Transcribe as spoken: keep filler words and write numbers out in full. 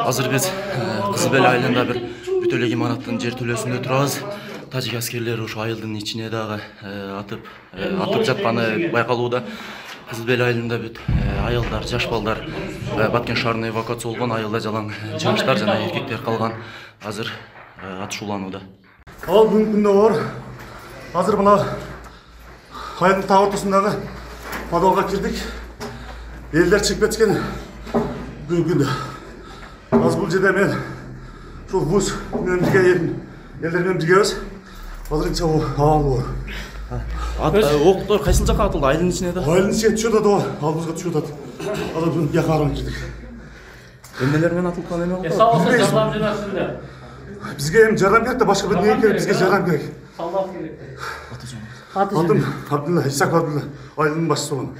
Азыр биз Кызыл Бел айылында бир бүтө эле имараттын жер төлөөсүндө турабыз. Тажик аскерлери ошо айылдын ичине дагы атып атып жатканы байкалууда. Кызыл Бел айылында бүт аялдар, жаш балдар Баткен шаарына эвакуация болгон, айылда жалаң жаштар жана эркектер калган. Азыр атышууланууда. Ал бүгүнкү күндө бар. Азыр мына айылдын так ортосундагы подвалга кирдик. Элдер чыгып кеткен бүгүнкү күндө. Азыр бул жерде мен ушул вуз менен бирге элдер менен биргебиз. Азырынча абал бар. Октор кайсыл жака атылды? Айылдын ичине да? Айылдын ичине түшүп атат, алдыбызга түшүп атат. Азыр бүгүн бияка карап кирдик. Эмнелер менен атылып калган эме болду? Сабасы жардам жөнөтүлдү. Бизге эми жардам керек да, башка бир нерсе керек, бизге жардам керек. Салдат керек. Атым Абдулла, Исак Абдулла, айылдын башчысы болом.